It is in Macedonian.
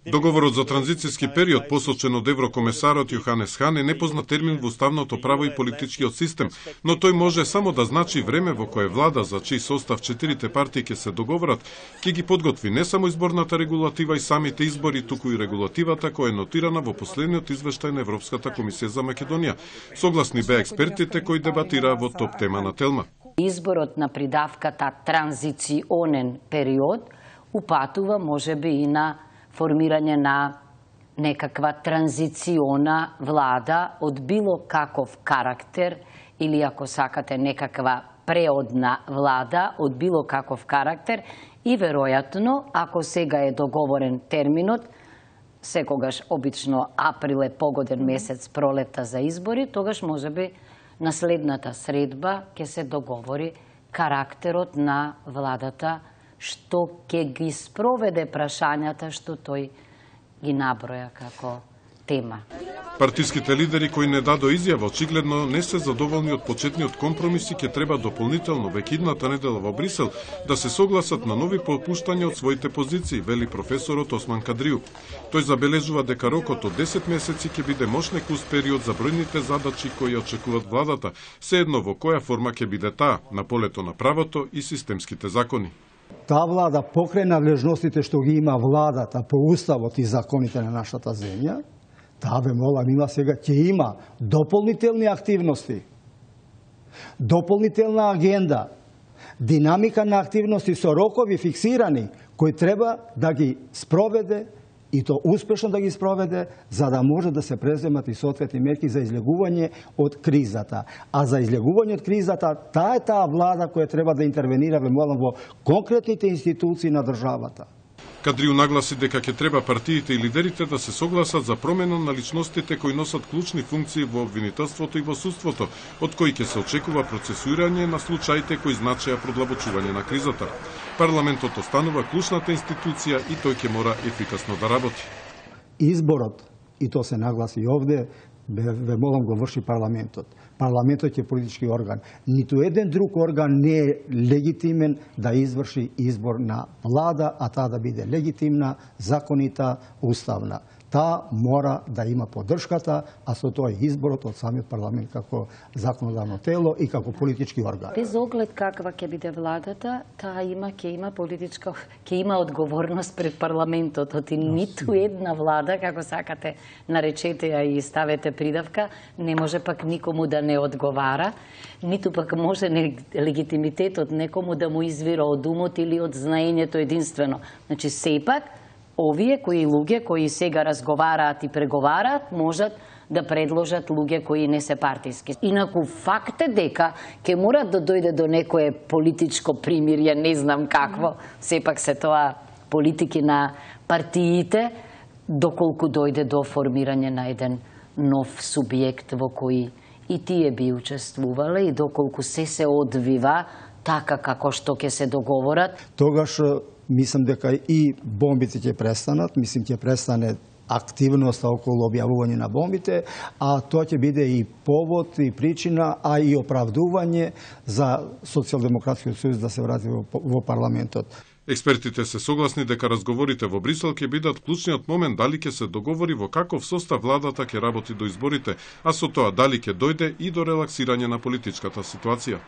Договорот за транзицијски период, посочен од еврокомесарот Јоханес Хан, е непознат термин во уставното право и политичкиот систем, но тој може само да значи време во кое влада, за чиј состав четирите партии ќе се договорат, ќе ги подготви не само изборната регулатива и самите избори, туку и регулативата која е нотирана во последниот извештај на Европската комисија за Македонија. Согласни беа експертите кои дебатираа во топ тема на Телма. Изборот на придавката транзиционен период упатува можеби и на формирање на некаква транзициона влада од било каков карактер или, ако сакате, некаква преодна влада од било каков карактер и веројатно, ако сега е договорен терминот, секогаш обично април е погоден месец пролета за избори, тогаш можеби на следната средба ќе се договори карактерот на владата, што ќе ги спроведе прашањата што тој ги наброја како тема. Партиските лидери кои не дадо изјава очигледно не се задоволни од почетниот компромис и ќе треба дополнително веќе идната недела во Брисел да се согласат на нови попуштања од своите позиции, вели професорот Осман Кадрију. Тој забележува дека рокот од 10 месеци ќе биде мошнекуст период за бројните задачи кои очекуваат владата, sejedno во која форма ќе биде таа, на полето на правото и системските закони. Таа влада покрај надлежностите што ги има владата по уставот и законите на нашата земја, таа бе молам има сега ќе има дополнителни активности, дополнителна агенда, динамика на активности со рокови фиксирани кои треба да ги спроведе и то успешно да ги спроведе, за да може да се преземат и соодветни мерки за излегување од кризата. А за излегување од кризата, таа е таа влада која треба да интервенира во конкретните институции на државата. Кадрију нагласи дека ќе треба партиите и лидерите да се согласат за промена на личностите кои носат клучни функции во обвинителството и во судството, од кои ќе се очекува процесуирање на случаите кои значеа продлабочување на кризата. Парламентот останува клучната институција и тој ќе мора ефикасно да работи. Изборот, и то се нагласи овде, ве молам го врши парламентот. Парламентот е политички орган. Ниту еден друг орган не е легитимен да изврши избор на влада, а таа да биде легитимна, законита, уставна. Таа мора да има поддршката, а со тоа и изборот од самиот парламент како законодавно тело и како политички орган. Без оглед каква ќе биде владата, таа ќе има одговорност пред парламентот. И ниту една влада, како сакате наречете ја и ставете придавка, не може пак никому да не одговара, ниту пак може легитимитетот некому да му извира од умот или од знаењето единствено. Значи, сепак, овие луѓе кои сега разговараат и преговараат, можат да предложат луѓе кои не се партиски. Инаку факт е дека ќе мора да дојде до некое политичко примирје, не знам какво, сепак се тоа политики на партиите, доколку дојде до формирање на еден нов субјект во кој и тие би учествувале и доколку се одвива така како што ќе се договорат. Тогаш мислам дека и бомбите ќе престанат, мислам ќе престане активноста околу објавување на бомбите, а тоа ќе биде и повод и причина, а и оправдување за Социјалдемократскиот сојуз да се врати во парламентот. Експертите се согласни дека разговорите во Брисел ќе бидат клучниот момент дали ќе се договори во каков состав владата ќе работи до изборите, а со тоа дали ќе дојде и до релаксирање на политичката ситуација.